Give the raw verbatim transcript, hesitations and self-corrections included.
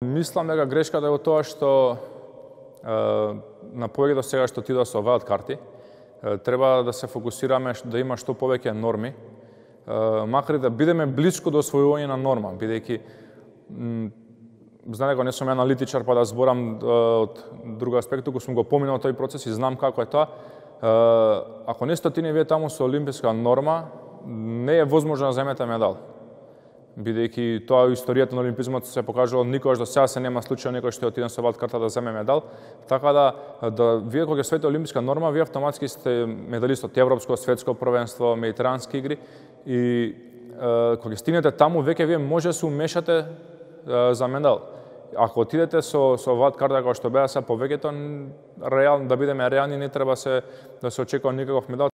Мислам дека грешката е во тоа што е, на повеќето сега што ти да се оваат карти, е, треба да се фокусираме да има што повеќе норми, е, макар и да бидеме блиску до освојување на норма, бидејќи знае дека не сум аналитичар па да зборам е, од друг аспект, туку сум го поминал тој процес и знам како е тоа. Е, ако не стотини вие таму со олимписка норма, не е возможно да земете медал. Бидејќи тоа историјата на олимпизмот се покажало, никогаш до сега се нема случај некој што отиде со валт карта да земе медал, така да да вие кога ќе освоите олимписка норма, вие автоматски сте медалист од европско, светско првенство, медитерански игри и е, кога стигнете таму веќе вие може да се умешате е, за медал. Ако отидете со со валт карта како што беа се повеќето, реално да бидеме реални, не треба се да се очекува никаков медал.